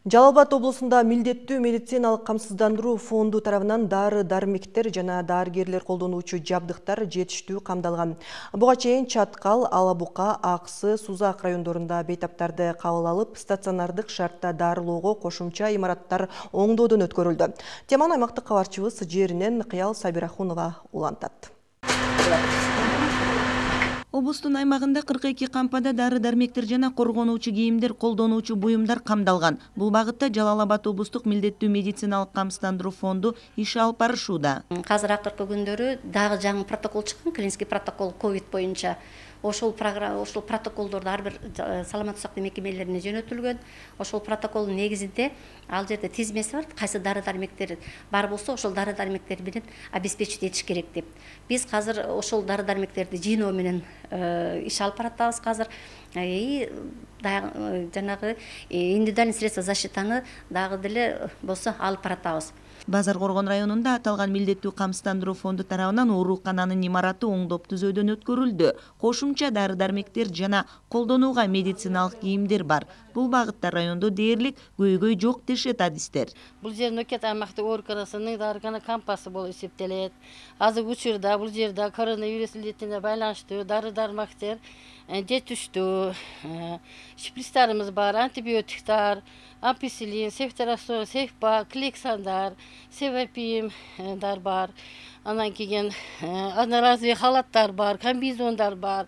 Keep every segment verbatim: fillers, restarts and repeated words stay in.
Жалал Абад облусунда милдеттүү медициналык камсыздандыруу фонду тарабынан дары-дармектер жана дарыгерлер колдонуучу жабдыктар жетиштүү камдалган. Буга чейин Чаткал, Алабука, Аксы, Сузак райондорунда бейтаптарды кабыл алып, стационардык шартта дарылоого кошумча имараттар оңдоодон өткөрүлдү. Теманы аймактык кабарчыбыз жеринен Кыял Сабирахунова улантат. Облустун аймагында кырк эки кампада дары-дармектер жана коргонуучу кийимдер, колдонуучу буюмдар камдалган. Бул багытта Жалал Абад облустук милдеттүү медициналык камсыздандыруу фонду иш алып барышууда. Азыр акыркы күндөрү дагы жаңы протокол чыккан, клинический протокол ковид боюнча. Ошол программа, ошол протоколдорду ар бир саламаттык сактоо мекемелерине жөнөтүлгөн. Ошол протоколдун негизинде ал жерде тизмеси бар, кайсы дары-дармектер бар болсо, ошол дары-дармектер менен обеспечить этиш керек деп. Биз азыр ошол дары-дармектерди жыйноо менен иш алып баратабыз азыр. И жанагы индивидуальный средства защитаны дагы деле болсо алып баратабыз. Базар Коргон районунда аталган милдеттүү камсыздандыруу фонду тарабынан оорукананын имараты оңдоп түзөөдөн өткөрүлдү. Кошумча дары-дармектер жана колдонууга медициналык кийимдер бар. Бул багытта райондо дээрлик көйгөй жок дешет адистер. Бул жер Нөкет аймактык ооруканасынын дарыкана кампасы болуп эсептелет. Азыркы учурда бул жерде коронавирус илдетине байланыштуу дары-дармектер жетиштүү, шприцтарыбыз бар, антибиотиктар, амписилин, сефтерасон, сефпа, клександар, севапимдар бар. Анан кийин одноразовый халаттар бар, комбинезондар бар,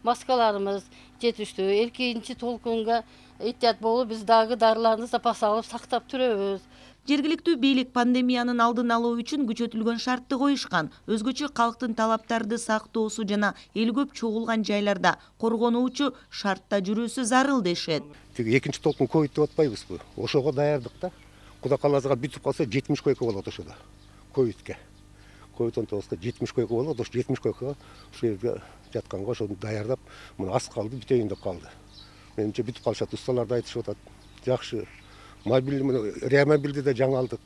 маскаларыбыз жетиштүү. Экинчи толкунга эhtiyat болуп биз дагы дарыларды запас алып сактап турабыз. Жергиликтүү бийлик пандемиянын алдын алуу үчүн күчөтүлгөн шартты коюшкан. Өзгөчө калктын талаптарды сактоосу жана эл көп чогулган жайларда коргонуучу шартта жүрүүсү зарыл дешет. Экинчи толкун ковид деп атпайбызбы? Ошого даярдык да. Кудай кааласа бүтүп калса жетимиш койка болот ошодо. Ковидке. ковид он тогузга жетимиш койка болот. Ошо жетимиш койкага ошол жерге жатканга ошону даярдап, мына аз калды, бүтөйүн деп калды. Менимче бүтүп калышат, усталар да айтышып атат. Жакшы. Мобиль реамобилди да жаңы алдык.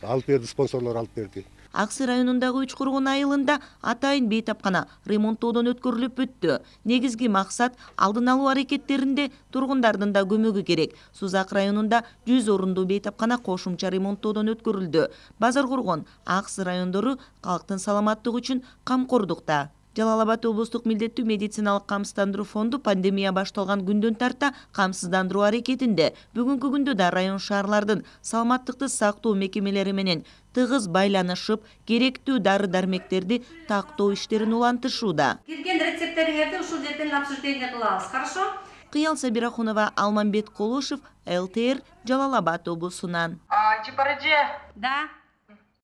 Алып берди, спонсорлор алып берди. Аксы районундагы Үч Коргон айылында атайын бейтапкана ремонттоодон өткөрүлүп бүттү. Негизги максат алдын алуу аракеттеринде тургундардын да көмөгү керек. Сузак районунда жүз орундуу бейтапкана кошумча ремонттоодон өткөрүлдү. Базар Коргон, Аксы райондору калктын саламаттыгы үчүн камкордукта. Жалал Абад облустук милдеттүү медициналык камсыздандыруу фонду пандемия башталган күндөн тарта камсыздандыруу аракетинде. Бүгүнкү күндө да район шаарлардын саламаттыкты сактоо мекемелери менен тыгыз байланышып, керектүү дары-дармектерди тактоо иштерин улантышууда. Кирген рецепттериңерди ушул жерден обсуждение кылабыз, хорошо? Кыял Сабирахунова, Алмамбет Колушев, эл тэ эр, Жалал Абад облусунан. Да.